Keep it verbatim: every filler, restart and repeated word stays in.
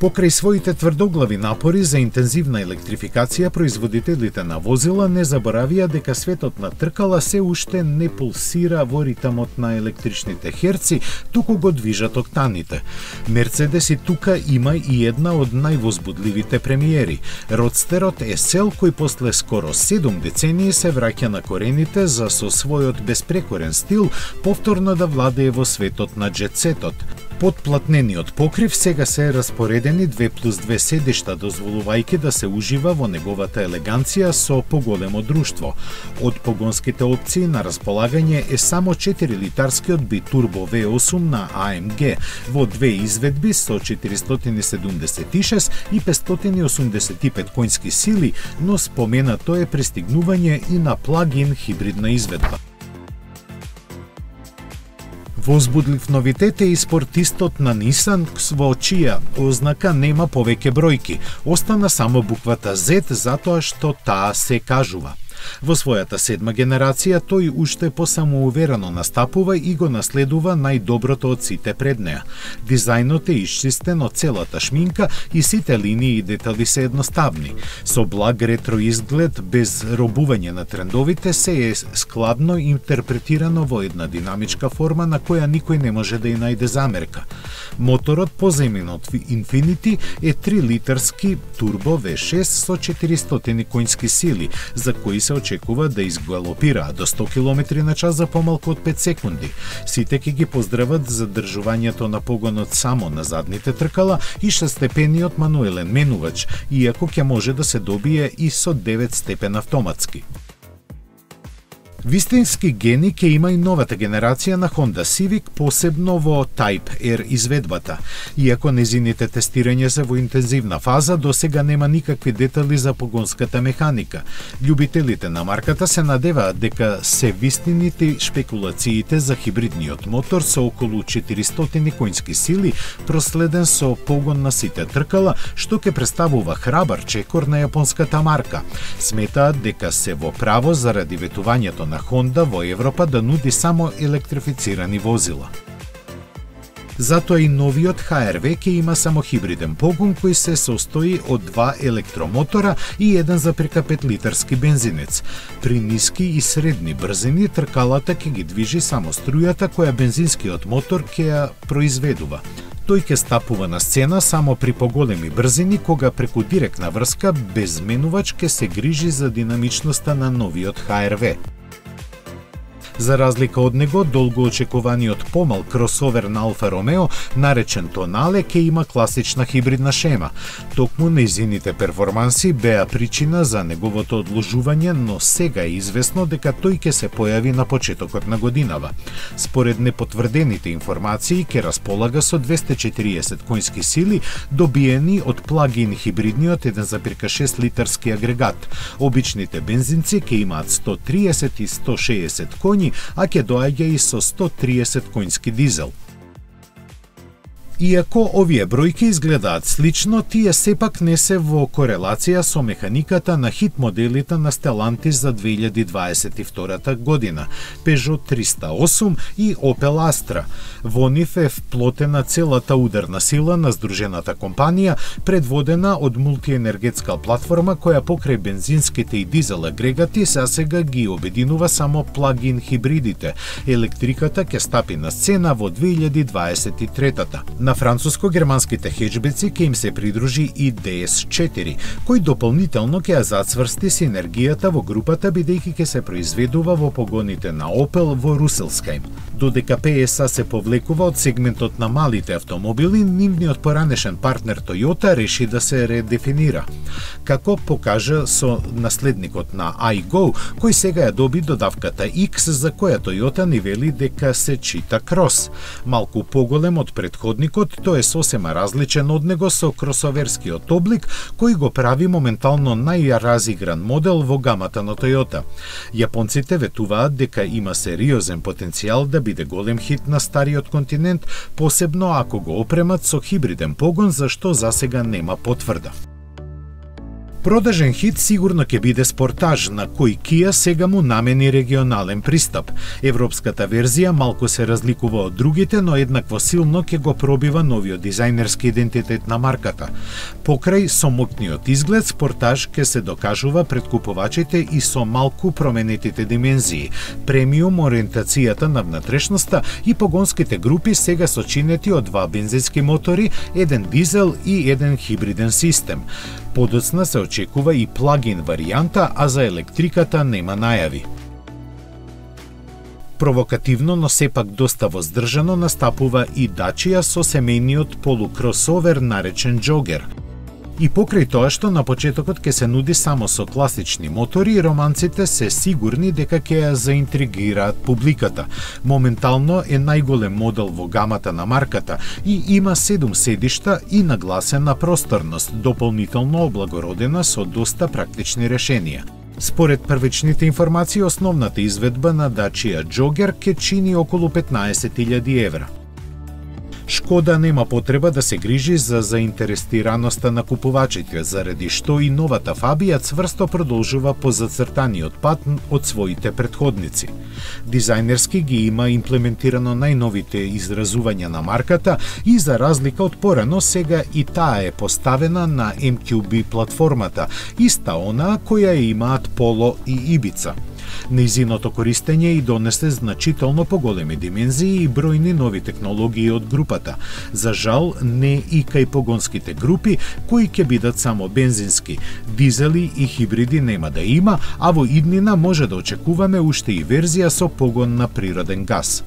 Покрај своите тврдоглави напори за интензивна електрификација, производителите на возила не заборавија дека светот на тркала се уште не пулсира во ритамот на електричните херци, туку го движат октаните. Мерцедес и тука има и една од највозбудливите премиери. Родстерот Есел, кој после скоро седум децении се враќа на корените за со својот безпрекорен стил повторно да владее во светот на джетсетот. Подплатнениот покрив сега се распоредени две плюс две седишта, дозволувајќи да се ужива во неговата елеганција со поголемо друштво. Од погонските опции на располагање е само четири литарскиот битурбо ве осум на А М Г во две изведби со четиристотини седумдесет и шест и петстотини осумдесет и пет конски сили, но споменато е пристигнување и на плагин хибридна изведба. Возбудлив новитет е и спортистот на Nissan, во чија ознака нема повеќе бројки. Остана само буквата Z, затоа што таа се кажува. Во својата седма генерација тој уште посамоуверено настапува и го наследува најдоброто од сите пред неа. Дизајнот е исчистен од целата шминка и сите линии и детали се едноставни. Со благ ретро изглед, без робување на трендовите, се е складно интерпретирано во една динамичка форма на која никој не може да ја најде замерка. Моторот позаимен од Infiniti е три литарски турбо ве шест со четиристотини конски сили, за кои се очекува да изгалопира до сто километри на час за помалку од пет секунди. Сите ќе ги поздрават за држувањето на погонот само на задните тркала и шестстепениот мануелен менувач, иако ќе може да се добие и со девет степен автоматски. Вистински гени ќе има и новата генерација на Honda Civic, посебно во Type R изведбата. Иако незините тестирања се во интензивна фаза, досега нема никакви детали за погонската механика. Љубителите на марката се надеваат дека се вистините шпекулациите за хибридниот мотор со околу четиристотини конски сили, проследен со погон на сите тркала, што ќе представува храбар чекор на јапонската марка. Сметаат дека се во право заради ветувањето на Honda во Европа да нуди само електрифицирани возила. Затоа и новиот Х Р В ќе има само хибриден погон кој се состои од два електромотора и еден запрека пет литарски бензинец. При ниски и средни брзини тркалата ќе ги движи само струјата која бензинскиот мотор ќе ја произведува. Тој ќе стапува на сцена само при поголеми брзини, кога преку директна врска без менувач ќе се грижи за динамичноста на новиот Х Р В. За разлика од него, долго очекуваниот помал кросовер на Алфа Ромео, наречен Тонале, ќе има класична хибридна шема. Токму нејзините перформанси беа причина за неговото одложување, но сега е известно дека тој ќе се појави на почетокот на годинава. Според непотврдените информации, ќе располага со двесте и четириесет конски сили, добиени од плагин хибридниот еден запирка шест литарски агрегат. Обичните бензинци ќе имаат сто триесет и сто шеесет коњи, а ќе доаѓа и со сто триесет конски дизел. Иако овие бројки изгледаат слично, тие сепак не се во корелација со механиката на хит моделите на Stellantis за две илјади дваесет и втора година, Peugeot триста и осум и Opel Astra. Во нив е вплотена целата ударна сила на здружената компанија, предводена од мултиенергетска платформа која покрај бензинските и дизел агрегати засега ги обединува само плагин хибридите. Електриката ќе стапи на сцена во две илјади дваесет и трета. На француско-германските хеджбеци ќе им се придружи и Д С четири, кој дополнително ќе ја зацврсти синергијата во групата, бидејќи ќе се произведува во погоните на Opel во Руселскајм. Додека П С А се повлекува од сегментот на малите автомобили, нивниот поранешен партнер Toyota реши да се редефинира. Како покажа со наследникот на iGo, кој сега ја доби додавката X, за која Toyota ни вели дека се чита крос. Малку поголем од предходникот, тој е сосема различен од него со кросоверскиот облик, кој го прави моментално најразигран модел во гамата на Toyota. Јапонците ветуваат дека има сериозен потенцијал да биде голем хит на стариот континент, посебно ако го опремат со хибриден погон, за што засега нема потврда. Продажен хит сигурно ќе биде Спортаж, на кој Kia сега му намени регионален пристап. Европската верзија малку се разликува од другите, но еднакво силно ќе го пробива новиот дизајнерски идентитет на марката. Покрај сомотниот изглед, Спортаж ќе се докажува пред купувачите и со малку променетите димензии, премиум ориентацијата на внатрешноста и погонските групи сега сочинети од два бензински мотори, еден дизел и еден хибриден систем. Подоцна се очекува и плагин варијанта, а за електриката нема најави. Провокативно, но сепак доста воздржано настапува и Dacia со семејниот полукросовер наречен Джогер. И покрај тоа што на почетокот ќе се нуди само со класични мотори, романците се сигурни дека ќе ја заинтригираат публиката. Моментално е најголем модел во гамата на марката и има седум седишта и нагласена просторност, дополнително облагородена со доста практични решенија. Според првичните информации, основната изведба на Dacia Jogger ќе чини околу петнаесет илјади евра. Шкода нема потреба да се грижи за заинтересираноста на купувачите, заради што и новата Фабија цврсто продолжува по зацртаниот пат од своите претходници. Дизајнерски ги има имплементирано најновите изразувања на марката и за разлика од порано, сега и таа е поставена на Ем Кју Би платформата, иста онаа која ја имаат Поло и Ибица. Нејзиното користење и донесе значително поголеми димензии и бројни нови технологии од групата. За жал, не и кај погонските групи, кои ќе бидат само бензински. Дизели и хибриди нема да има, а во иднина може да очекуваме уште и верзија со погон на природен газ.